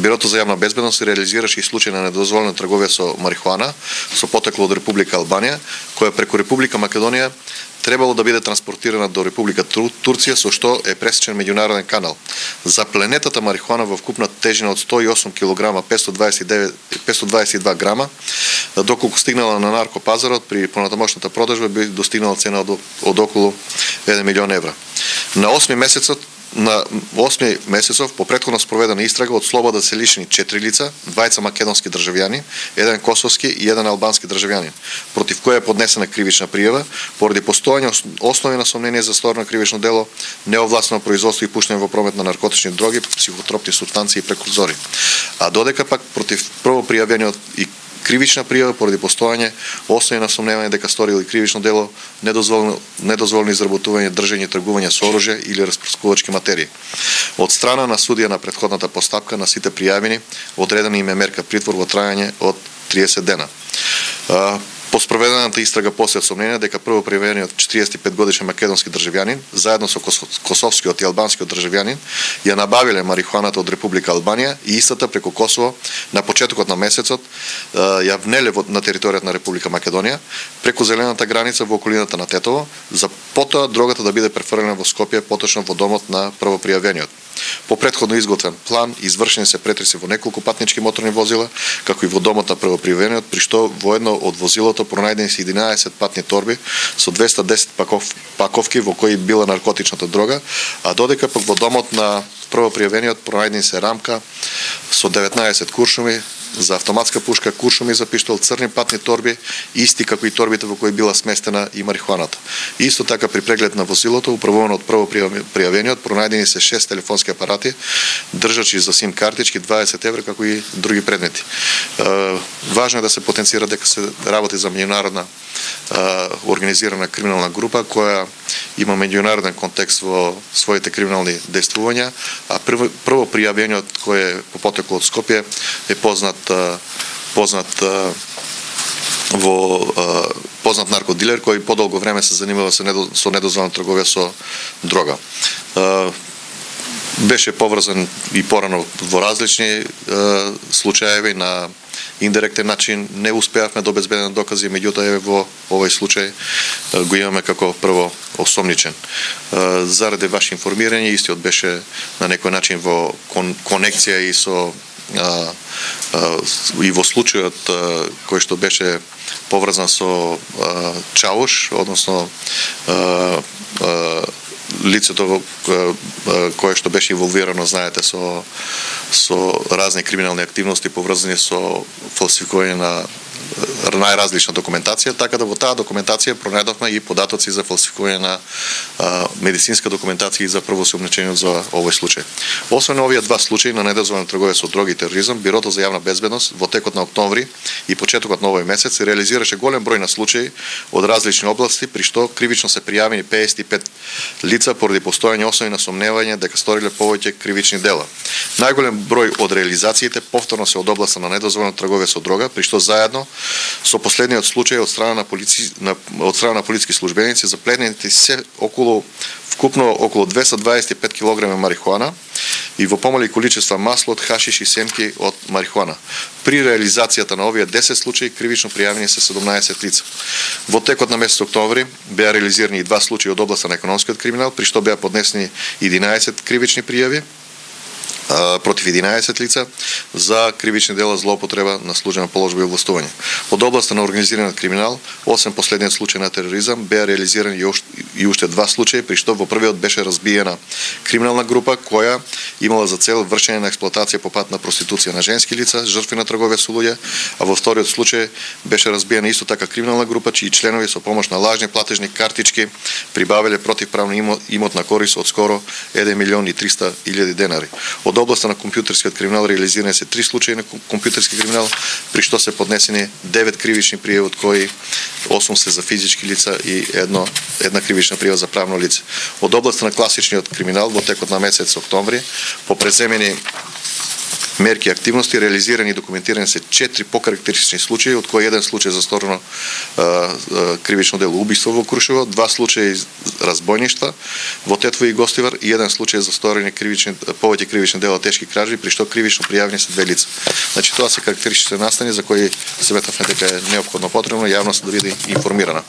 Бирото за јавна безбедност реализираше и случај на недозволена трговија со марихуана со потекло од Република Албанија, која преку Република Македонија требало да биде транспортирана до Република Турција, со што е пресечен меѓународен канал. Запленетата марихуана во вкупна тежина од 108 кг 522 грама, доколку стигнала на наркопазарот, при понатамошната продажба би достигнала цена од околу 1 милион евра. На 8 месецов по претходно спроведена истрага од слобода се лишени 4 лица, 2 македонски државјани, 1 косовски и 1 албански државјанин, против која е поднесена кривична пријава поради постојање основи на сомнение за сторно кривично дело, неовластено производство и пуштање во промет на наркотични дроги, психотропни супстанции и прекурзори. А додека пак против првопријавениот и кривична пријава поради постојање основи на сомневање дека сторил и кривично дело, недозволено изработување, држење и тргување со оружје или распрскувачки материи. Од страна на судија на претходната постапка на сите пријавени одредена им е мерка притвор во трајање од 30 дена. По спроведената истрага после сомнение дека првопријавениот 45 годишен македонски државјанин заедно со косовскиот и албанскиот државјанин ја набавиле марихуаната од Република Албанија и истата преку Косово на почетокот на месецот ја внеле на територијата на Република Македонија преку зелената граница во околината на Тетово, за потоа дрогата да биде префрлена во Скопје, поточно во домот на првопријавениот. По претходно изготвен план извршени се претреси во неколку патнички моторни возила, како и во домот на првопријавениот, при што во едно од возилото пронајдени се 11 патни торби со 210 паковки во кои била наркотичната дрога, а додека пак во домот на првопријавениот пронајдени се рамка со 19 куршуми за автоматска пушка, куршуми за пиштол, црни патни торби, исти како и торбите во кои била сместена и марихуаната. Исто така при преглед на возилото, управувано од првопријавениот, пронајдени се 6 телефонски апарати, држачи за сим картички, 20 евра, како и други предмети. Важно е да се потенцира дека се работи за меѓународна организирана криминална група која има меѓународен контекст во своите криминални действувања, а првопријавениот кој е по потекло од Скопје е познат наркодилер кој подолго време се занимава со недозволена трговија со дрога. Беше поврзан и порано во различни случаеви на индиректен начин, не успеавме да обезбедиме докази, меѓутоа во овој случај го имаме како прво осомничен. Заради ваше информирање, истиот беше на некој начин во конекција и со и во случајот кој што беше поврзан со Чауш, односно лицето кое што беше инволвирано, знаете, со разни криминални активности поврзани со фалсификување на најразлична документација, така да во таа документација пронајдовме и податоци за фалсификување на медицинска документација и за првосомнечениот за овој случај. Освен овие два случаи на недозволена трговија со дроги и тероризам, Бирото за јавна безбедност во текот на октомври и почетокот на овој месец реализираше голем број на случаи од различни области, при што кривично се пријавени 55 лица поради постојање основи на сомневање дека сториле повеќе кривични дела. Најголем број од реализациите повторно се од областа на недозволена трговија со дрога, при што заедно со последниот случај од страна на полициски службеници запленети се вкупно околу 225 кг марихуана и во помали количества масло од хашиш и семки од марихуана. При реализацијата на овие 10 случаи кривично пријавени се 17 лица. Во текот на месец октомври беа реализирани и два случаи од областа на економскиот криминал, при што беа поднесени 11 кривични пријави против 11 лица за кривични дела злоупотреба на службена положба и овластување. Од областа на организираниот криминал, освен последниот случај на тероризам, беа реализирани и уште два случаи, при што во првиот беше разбиена криминална група која имала за цел вршење на експлоатација по пат на проституција на женски лица, жртви на трговија со луѓе, а во вториот случај беше разбиена исто така криминална група чии членови со помош на лажни платежни картички прибавиле противправно имот на корис од скоро 1 милион и 300 илјади денари. Од областа на компјутерскиот криминал реализирани се 3 случаи на компјутерски криминал, при што се поднесени 9 кривични пријави, од кои 8 се за физички лица и една кривична пријава за правно лице. Од областа на класичниот криминал во текот на месец октомври по преземени мерки и активности реализирани и документирани се 4 покарактеристични случаи, од кои еден случај за сторено кривично дело убиство во Крушево, 2 случаи разбойништва во Тетово и Гостивар и еден случај за сторени повеќе кривични дела тешки кражби, при што кривично пријавени се 2 лица. Значи тоа се карактеристични настани за кои сметавме дека е неопходно потребно јавноста да биде информирана.